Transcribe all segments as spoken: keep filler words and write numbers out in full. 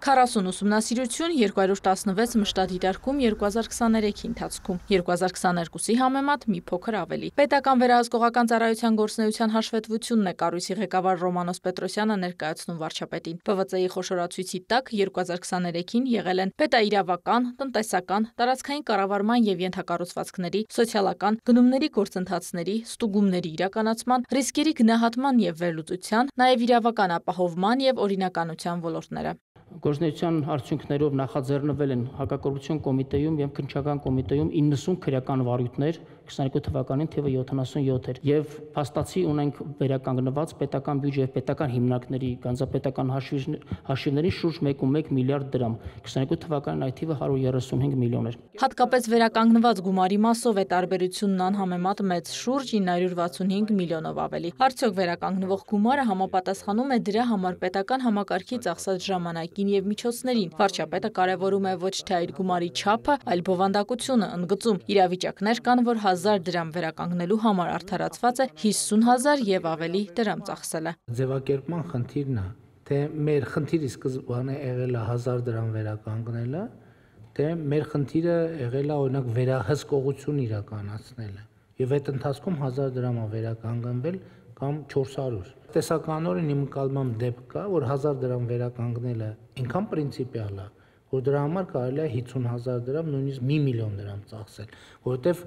քառասուն ուսումնասիրություն երկու հարյուր տասնվեց մշտադիտարկում երկու հազար քսաներեքի ընթացքում, երկու հազար քսաներկուսի համեմատ մի փոքր ավելի։ Պետական վերահսկողական ծառայության գործունեության հաշվետվությունն է կառույցի ղեկավար Ռոմանոս Պետրոսյանը ներկայացնում վարչապետին։ Պ V Ծ-ի խոշորացույցի տակ երկու հազար քսաներեքին եղել են պետաիրավական, տնտեսական, տարածքային կառավարման և ենթակառուցվածքների, սոցիալական, գնումների գործընթացների, ստուգումների իրականացման, ռիսկերի գնահատման և վերլուծության, նաև իրավական ապահովման և օրինականության ոլորտները։ Գործունեության արդյունքներով նախաձեռնվել են հակակոռուպցիոն կոմիտեում և քննչական կոմիտեում իննսուն քրեական վարույթներ, քսաներկու թվականին թիվը յոթանասունյոթ էր, եւ փաստացի ունենք վերականգնված պետական բյուջե եւ պետական հիմնարկների գանձապետական հաշիվների շուրջ մեկ կόμma մեկ միլիարդ դրամ, քսաներկու թվականին այդ թիվը հարյուր երեսունհինգ միլիոն էր։ Հատկապես վերականգնված գումարի մասով է տարբերությունն անհամեմատ մեծ, շուրջ ինը հարյուր վաթսունհինգ միլիոնով ավելի։ Արդյոք վերականգնվող գումարը համապատասխանում է դրա համար պետական համակարգի ծախսած ժամանակին և միջոցներին։ Վարչապետը կարևորում է ոչ թե այդ գումարի չափը, այլ բովանդակությունը, ընդգծում՝ իրավիճակներ կան, որ հազար դրամ վերականգնելու համար արդարացված է հիսուն հազար և ավելի դրամ ծախսելը։ Ձևակերպման խնդիրն է, թե մեր խնդիրը սկզբանե եղել է հազար դրամ վերականգնելը, թե մեր խնդիրը եղել է օրինակ վերահսկողություն իրականացնելը, եւ այդ ընթացքում հազար դրամ է վերականգնվել կամ չորս հարյուր։ Տեսականորեն իմ ընկալմամբ դեպք կա, որ հազար դրամ վերականգնելը այնքան պրինցիպիալ է, որ դրա համար կարելի է հիսուն հազար դրամ, նույնիսկ մի միլիոն դրամ ծախսել, որովհետև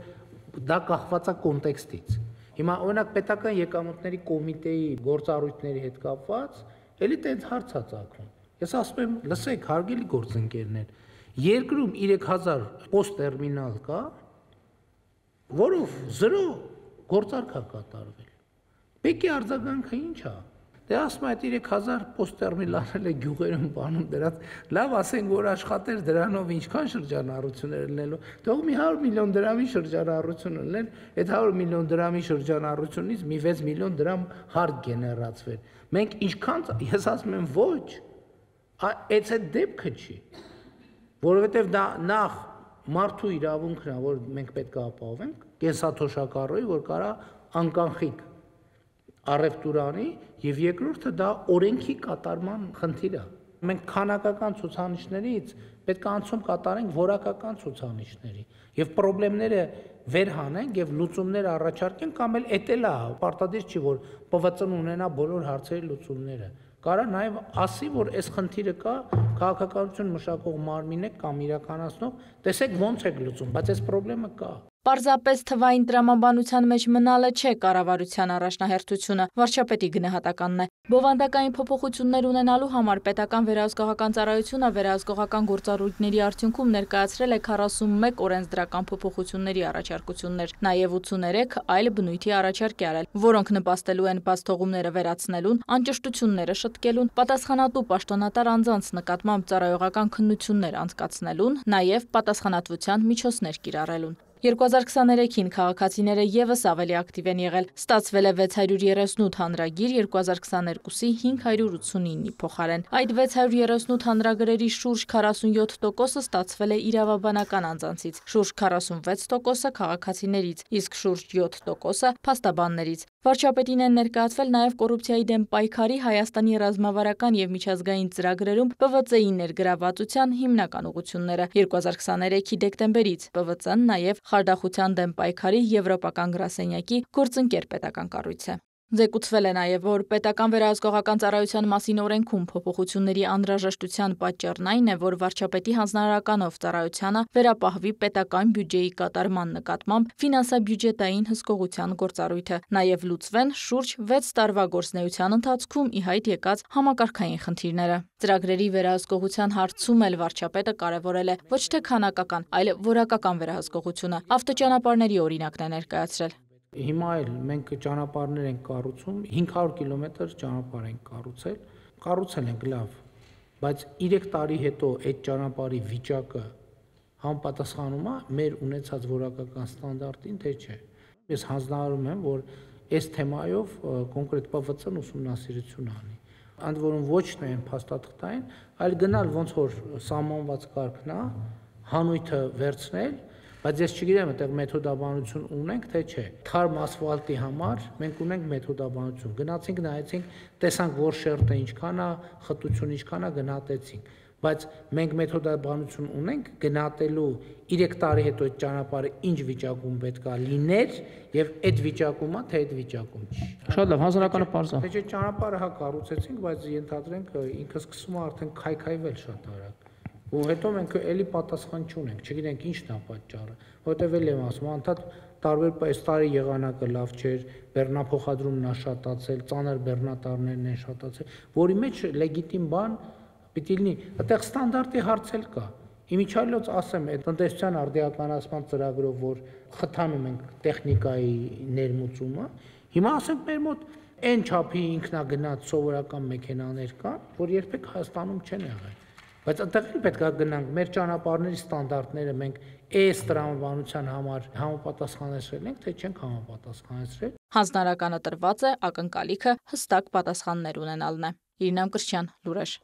դա կախված է կոնտեքստից։ Հիմա օրինակ պետական եկամուտների կոմիտեի գործառույթների հետ կապված էլի տենց հարց է ծագում։ Ես ասում եմ, լսեք, հարգելի գործընկերներ, երկրում երեք հազար պոստ տերմինալ կա, որով զրո գործարք է կատարվել։ Բեկի արձագանքը ինչ է։ Դե ասում այդ երեք հազար պոստ տերմինալները գյուղերում բանում դրած, լավ ասենք, որ աշխատեր դրանով ինչքան շրջանառություններ լինելու, թող մի հարյուր միլիոն դրամի շրջանառություն լինեն, այդ հարյուր միլիոն դրամի շրջանառությունից մի վեց միլիոն դրամ հարկ գեներացվեր։ Մենք ինչքան, ես ասում եմ ոչ, այս այդ դեպքը չի, որովհետև դա նախ մարդու իրավունքն է, որ մենք պետք է ապահովենք, կենսաթոշակառուի, որ կարա անկանխիկ առևտուրանի, եւ երկրորդը դա օրենքի կատարման խնդիր է։ Մենք քանակական ցուցանիշներից պետք է անցում կատարենք որակական ցուցանիշների եւ խնդիրները վերհանենք եւ լուծումներ առաջարկենք, կամ էլ էտել է պարտադիր չի, որ Պ V Ծ-ն ունենա բոլոր հարցերի լուծումները։ Կարա նաև ասի, որ այս խնդիրը կա, քաղաքականություն մշակող մարմին է կամ իրականացնող, տեսեք ոնց եք լուծում, բայց այս խնդիրը կա։ Պարզապես թվային տրամաբանության մեջ մնալը չէ կառավարության առաջնահերթությունը, վարչապետի գնահատականն է։ Բովանդակային փոփոխություններ ունենալու համար պետական վերահսկողական ծառայությունը վերահսկողական գործառույթների արդյունքում ներկայացրել է քառասունմեկ օրենսդրական փոփոխությունների առաջարկություններ, նաև ութսուներեք այլ բնույթի առաջարկ է արել, որոնք նպաստելու են բացթողումները վերացնելուն, անճշտությունները շտկելուն, պատասխանատու պաշտոնատար անձանց նկատմամբ ծառայողական քննություններ անցկացնելուն, նաև պատասխանատվության միջոցներ կիրառելուն։ երկու հազար քսաներեքին քաղաքացիները ևս ավելի ակտիվ են եղել, ստացվել է վեց հարյուր երեսունութ հանրագիր երկու հազար քսաներկուսի հինգ հարյուր ութսունինի փոխարեն։ Այդ վեց հարյուր երեսունութ հանրագրերի շուրջ քառասունյոթ տոկոսը ստացվել է իրավաբանական անձանցից, շուրջ քառասունվեց տոկոսը քաղաքացիներից, իսկ շուրջ յոթ տոկոսը փաստաբաններից։ Վարչապետին են ներկայացվել նաև կոռուպցիայի դեմ պայքարի Հայաստանի ռազմավարական և միջազգային ծրագրերում Պ V Ծ-ի ներգրավվածության հիմնական ուղղությունները։ երկու հազար քսաներեքի դեկտեմբերից Պ V Ծ-ն նաև խարդախության դեմ պայքարի եվրոպական գրասենյակի գործընկեր պետական կառույց է։ Զեկուցվել է նաև, որ պետական վերահսկողական ծառայության մասին օրենքում փոփոխությունների անհրաժեշտության պատճառն այն է, որ վարչապետի հանձնարարականով ծառայությանը վերապահվի պետական բյուջեի կատարման նկատմամբ ֆինանսա-բյուջետային հսկողության գործառույթը, նաև լուծվեն շուրջ վեց տարվա գործունեության ընթացքում ի հայտ եկած համակարգային խնդիրները։ Ծրագրերի վերահսկողության հարցում էլ վարչապետը կարևորել է ոչ թե քանակական, այլ որակական վերահսկողությունը, ավտոճանապարհների օրինակն է ներկայացրել։ Հիմա էլ մենք ճանապարհներ ենք կառուցում, հինգ հարյուր կիլոմետր ճանապարհ ենք կառուցել, կառուցել ենք լավ, բայց երեք տարի հետո այդ ճանապարհի վիճակը համապատասխանում է մեր ունեցած որակական ստանդարտին, թե չէ։ Ես հանձնարարում եմ, որ այս թեմայով կոնկրետ Պ V Ծ-ն ուսումնասիրություն անի։ Ընդ որում ոչ միայն փաստաթղթային, այլ գնալ ոնց որ սահմանված կարգն է, հանույթը վերցնել, Բայց ես չգիտեմ, այդտեղ մեթոդաբանություն ունենք, թե չէ։ Թարմ ասֆալտի համար մենք ունենք մեթոդաբանություն։ Գնացինք, նայեցինք, տեսանք, որ շերտը ինչքան է, խտությունը ինչքան է, գնահատեցինք։ Բայց մենք մեթոդաբանություն ունենք գնահատելու երեք տարի հետո այդ ճանապարհը ինչ վիճակում պետք է լիներ եւ այդ վիճակումա թե այդ վիճակում չի։ Շատ լավ, հանրականը པարզ է։ Թե չէ ճանապարհը հա կառուցեցինք, բայց ենթադրենք ինքը սկսում է արդեն քայքայվել շատ արագ։ Ու հետո մենք էլի պատասխան չունենք, չգիտենք ինչն է պատճառը, որտեվ էլ եմ ասում, անդադ տարբեր այս տարի եղանակը լավ չէր, բեռնափոխադրումն է շատացել, ծանր բեռնատարներն են շատացել, որի մեջ լեգիտիմ բան պիտի լինի, այդտեղ ստանդարտի հարց էլ կա։ Իմիջիայլոց ասեմ, այդ տնտեսության արդիականացման ծրագրով, որ խթանում ենք տեխնիկայի ներմուծումը, հիմա ասենք մեր մոտ այն չափի ինքնագնաց սովորական մեքենաներ կան, որ երբեք Հայաստանում չեն եղել։ Բայց այդտեղ պետք է գնանք մեր ճանապարհների ստանդարտները մենք այս տրամաբանության համար համապատասխանեցրել ենք, թե չենք համապատասխանեցրել։ Հանձնարարականը տրված է, ակնկալիքը հստակ պատասխաններ ունենալն է։ Իրինամ Կրչյան, լուրեր։